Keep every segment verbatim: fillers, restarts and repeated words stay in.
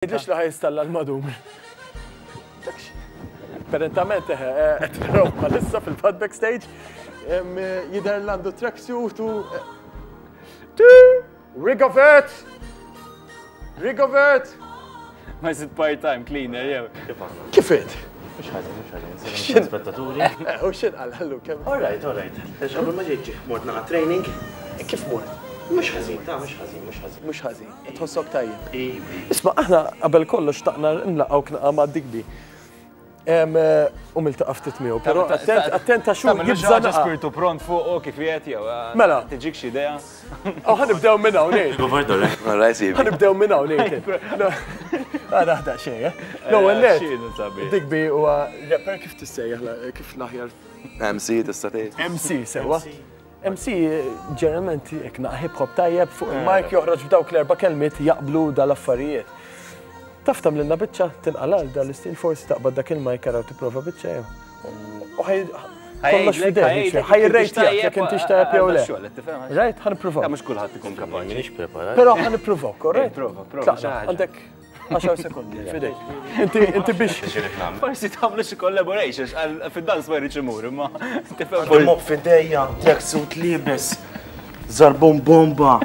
Tgħidlix li ħa jinstalla l-madum. Apparentament eħe, qed naraw bħalissa fil-pad backstage, em, jidher l-għandu tracksuit u Rigovet! Rigovet! Ma jsid part-time cleaner, jew. Kif int? Mhux ħażin, mhux ħażin. Xin? Spettaturi. Eh, U xin għal ħallu kemm? All right, all right. Għax qabel ma ġejt mort naqa training. Kif mort? Mhux ħażin, ta' mhux ħażin, mhux ħażin. Mhux ħażin, tħossok tajjeb. Iva. Isma' aħna qabel kollox xtaqna nlaqgħu naqa ma' Digby. Em, eh, U miltaqa' ftit miegħu, però attent attent għax hu jibża' naqa. Spiritu pront fuq u kif jgħet jew. Mela. Tiġik xi idea. Oh, ħa nibdew minn hawn, Nathan. All right, sibi. Ħa nibdew minn hawn, Nathan. Għada ħda xejn, eh? L-ewwel net. Xinu sabiħ. Digby huwa rapper kif tissejjaħ la- kif l-aħjar M C tista' tgħid. M C sewa. M C ġeneralment jekk naqa hip hop tajjeb fuq il-mic joħroġ b'dawk l-erba' kelmiet jaqblu dal-affarijiet. Taf tagħmlilna biċċa tinqalal dal-istil, forsi taqbad dak il-mic araw tipprova biċċa jew. U ħaj kollox f'idejk, ħa jirrejtjak jekk intix tajjeb jew le. Right, ħa nippruvaw. Mhux kulħadd ikun kapaċi. M'iniex preparat. Però ħa nippruvaw, korrett? Prova, prova, Tlaqna, xi ħaġa. għandek għaxar sekondi f'idejk. Inti inti biex Forsi tagħmlu xi collaboration, għal fid-dans ma jridx imur, imma tifhem. Mop f'idejja, tracksuit liebes, zarbon bomba.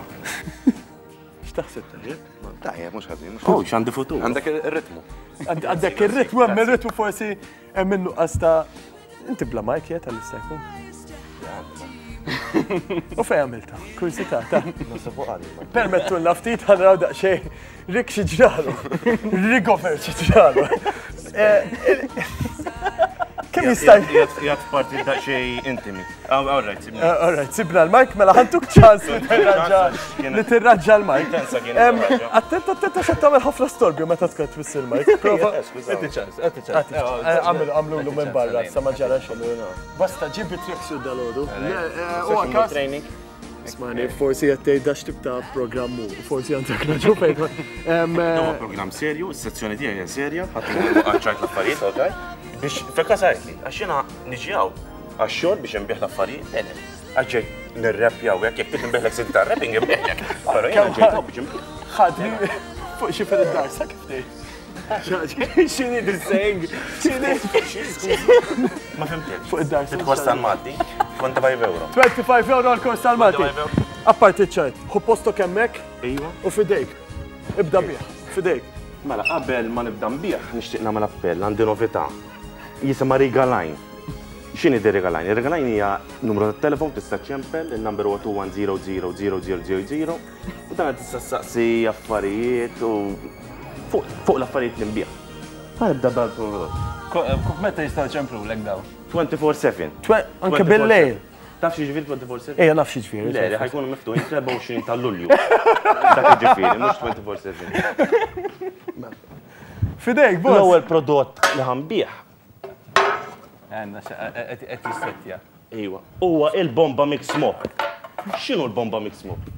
X'taħseb tajjeb? Tajjeb, mhux ħażin, mhux Oh, ħażin. x'għandi futur. Għandek ir-ritmu. Għand- Għandek ir-ritmu, hemm ir-ritmu, forsi hemm min-nuqqas ta' inti bla mic jiet għal jista' jkun. U fej għamilta? Kursità ta' Permettu ftit ħa naraw daqsxejn Rick xi ġralu. Rigover xi ġralu. Eh, il- Kemm jista' Jgħat parti daqsxejn intimi. All right, sibni. Eh, All right, sibna l-mic, mela ħa ntuk ċans li tirraġa li tirraġa l-mic. Intensa kien Em, tirraġa. Attent, attent, għax qed tagħmel ħafna storbju meta tkun twiss il-mic. Prova. Għati ċans, għati ċans. Eh, Għamlu għamlu l minn barra, sa ma ġara xejn. Basta ġibi tracksuit dal-għodu. U għakas. Training. Ismani, forsi qed tgħid dax tip ta' programmu, forsi għandek raġun fejn. Em, eh, Huwa program serju, is-sezzjoni tiegħi hija serja, ħadd għadċajt l-affarijiet, ok? Biex fekka sajtli, għax jiena niġi hawn għax-xogħol biex nbih l-affarijiet, le, le. Għax ġej nirreppja u hekk, jekk trid nbihlek C D tar-rapping nbihlek. Però jiena ġejt hawn biex nbih. ħadni fuq xi fil id-dar, sa kif tgħid? X'inhi this saying? X'inhi? Ma fhimtek. Fuq id-dar. Il-kors tal-Malti, twenty-five euro. twenty-five euro għal-kors tal-Malti. twenty-five euro. Apparti ċajt, ħu posto kemmek Iva. u fidejk. Ibda bih, fidejk. Mela, qabel ma nibda nbih, nixtieq nagħmel appell, għandi novità. Jisimha Riga Line. X'inhi di Riga Line? Riga Line hija numru tat-telefon tista' ċempel, il-number huwa two one zero zero zero zero zero zero u dan tista' saqsi affarijiet u fuq fuq l-affarijiet li nbih. Ħa nibda bħal-prodott. Meta jistgħu ċemplu lek daw? twenty-four seven. Twe- Anke bil-lejl. Taf xi ġifieri twenty-four seven? Ejja, naf xi ġifieri. Le, li ħa jkunu miftuħin fl-erbgħa u għoxrin ta' Lulju. Dak ġifieri, mhux twenty-four seven. Fidejk, boss. L-ewwel prodott li ħa nbigħ Għanna, qed jissettja. Iwa. Huwa il-Bomba Mix Mop. X'inhu l-Bomba Mix Mop?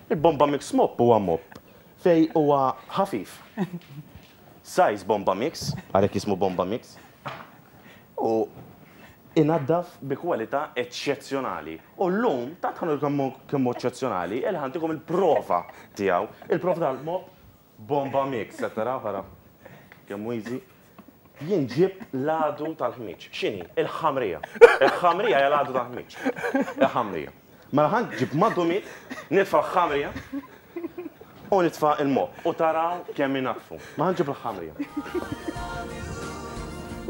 Il-Bomba Mix Mop huwa mop fej huwa ħafif. Size Bomba Mix, għalhekk jismu Bomba Mix. U inaddaf bi kwalità eċċezzjonali. U llum, ta' tħanu kemm kemm eċċezzjonali, il ħa ntikom il-prova tiegħu. Il-prova tal-mop Bomba Mix, qed taraw ħara. Kemm hu easy. Jien ġib l-għadu tal-ħmiġ. X'inhi? Il-ħamrija. Il-ħamrija hija l-għadu tal-ħmiġ. Il-ħamrija. Mela ħa nġib madumit, nitfa' l-ħamrija u nitfa' il-mop. U taraw kemm inaddfu. Ma ħa nġib il-ħamrija.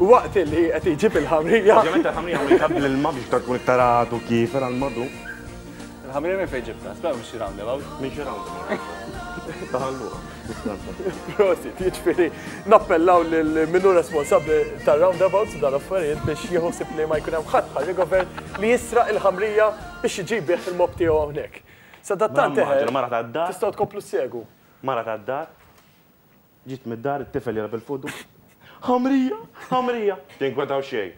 U waqt li qed iġib il-ħamrija. Ovvjament il-ħamrija ma jtabbil il-ma biex tkun iktar għadu kif għal-madu. Il-ħamrija minn fejn ġibta? Spera mhux xi roundabout. Minn xi roundabout. Taħalluha. Prosit, jiġifieri nappellaw lil minnu responsabbli tar-roundabouts u dal-affarijiet biex jieħu ħsieb li ma jkun hemm ħadd bħal Rigobert li jisraq il-ħamrija biex iġib bih il-mop tiegħu hawnhekk. Sadattant Mela, immaġina, mara tad-dar. tistgħu tkomplu ssegwu. Mara tad-dar, ġiet mid-dar, it-tifel jilgħab il-fudu. Ħamrija, ħamrija. Tinkwetaw xejn.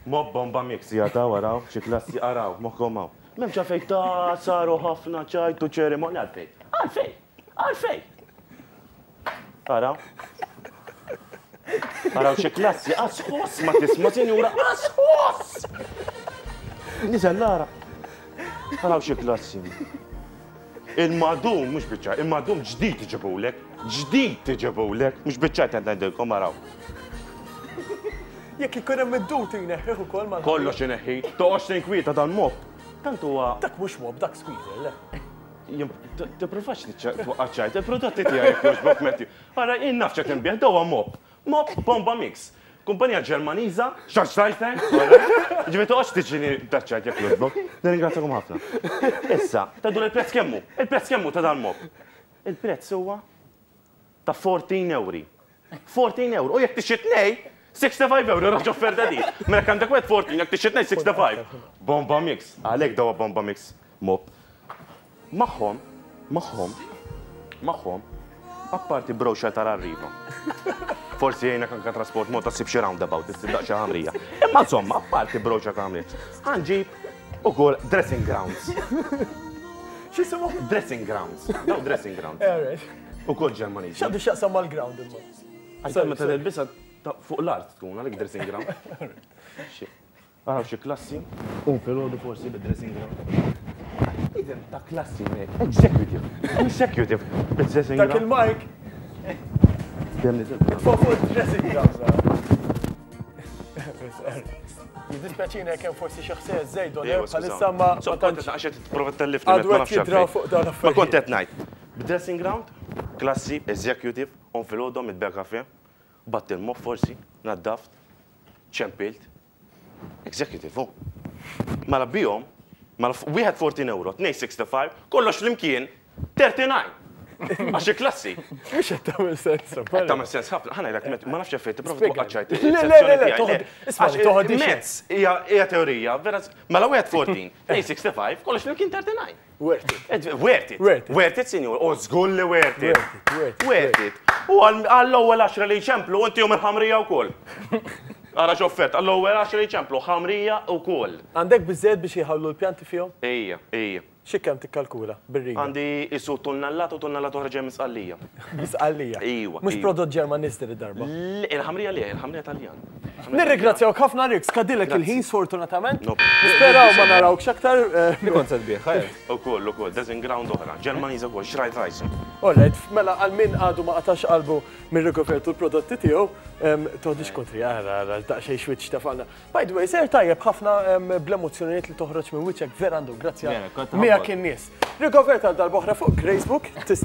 Mop Bomba Mix, jataw, araw, xi klassi, araw, moħkom hawn. M'hemmx għalfejn ta' saru ħafna ċajtu ċerimonja, għalfejn. Għalfejn, għalfejn. Araw. Araw xi klassi, asħos ma tisma' sinjura, asħos! Niżel lara. Araw xi klassi. Il-madum, mhux biċċa, il-madum ġdid iġibulek, ġdid iġibulek, mhux biċċa qed ngħidilkom araw. Jekk ikun hemm id-dut jneħħih ukoll mal. Kollox ineħħi, toqgħodx tinkwieta dan-mop. Tant huwa. Dak mhux mop, dak squeezer, le. Tipprovax twaqqaċ ċajt, il-prodotti tiegħi jekk jogħġbok Matthew. Ara jien naf x'qed inbigħ, dawa mop. Mop Bomba Mix. Kumpanija Ġermaniża, Schornstein, ġifieri toqgħodx tiġini taċċajt jekk jogħġbok. Nirringrazzjakom ħafna. Issa, tgħidu il-prezz kemm hu? Il-prezz kemm hu ta' dan mop? Il-prezz huwa ta' fourteen euro. fourteen euro. U jekk tixtri tnejn, sixty-five euro, raġ offerta di. Mela jekk għandek wieħed fourteen, jekk tixtri tnejn sixty-five. Bomba Mix, għalhekk dawa Bomba Mix mop. Magħhom, magħhom, magħhom, apparti brochure tal-Arriva. Forsi jgħinek anka trasport mod ta' ssib xi roundabout, issib daqsxejn ħamrija. Imma insomma, apparti brochure ta' ħamrija. Ħanġib ukoll dressing grounds. X'jisimhom? Dressing grounds. No, dressing grounds. All right. Ukoll Ġermaniżi. X'għandu x'jaqsam mal-ground imma? Għajta meta tilbisha fuq l-art tkun għalik dressing ground. Araw xi klassi, u filgħodu forsi bid-dressing ground. Idem ta' klassi, man. Executive. Executive. Bid-dressing Dak ground. il-mic. Dem niżel. Fuq fuq dressing ground. Jiddispjaċina jekk hemm forsi xi ħsejjes żejdu bħalissa ma ma tantx. Għax qed tipprova tellifni. Għadu qed jidraw fuq dawn Ma l-affarijiet. kont qed ngħid. B'dressing ground, klassi, executive, on filgħodu mitbegħ kafe, batt il-moff forsi, naddaft, ċempilt. Executive, oh. Mela bihom, mela wieħed fourteen euro, tnejn sixty-five, kollox flimkien, thirty-nine. Għax klassi. Mhux qed tagħmel sens. Qed tagħmel sens ħafna. Ħa ngħidlek, ma nafx effett, tipprova Spjega. twaqqaċ ċajt. Le, le, le, le, toħod- isma' toħodix. Mezz, hija hija teorija, vera, mela wieħed fourteen, tnejn sixty-five, kollox flimkien thirty-nine. Worth it. Ed, worth it. Worth it. Worth it, sinjur. U żgur li worth it. Worth it, worth it, Worth it. U għall-ewwel għaxra li jċemplu, inti jum il-ħamrija wkoll. Ara x'offert, għall-ewwel għaxra li jċemplu, ħamrija wkoll. Għandek biżżejjed biex jħallu l-pjanti fihom? Ejja, ejja. Xi kemm tikkalkula bir-riga? Għandi isu tunnellat u tunnellat oħra ġej misqallija. Misqallija. Ejwa, Mhux ejwa. prodott Ġermaniż din id-darba. Il-ħamrija li, il-ħamrija Taljan. Nirringrazzjawk ħafna Rick, skadilek Grazzi. il-ħin sfortunatament. No. Nisperaw ma narawkx aktar. eh, Li kont se tbigħ, ħajr. Ukoll, ukoll, dressing ground oħra, Ġermaniża wkoll, xrajt rajs. Alright, mela għal min għadu ma qatax qalbu minn Rigoberto l-prodotti tiegħu, em, toħdix kontri, ara, ara, daqsxejn xwiċ tafalna. By the way, ser tajjeb ħafna em, bl-emozzjonijiet li toħroġ minn wiċċek vera għandu, grazzja Vera, kont miegħek ħabbok. in-nies. Rigoberto għal darb'oħra fuq Gracebook, tistgħu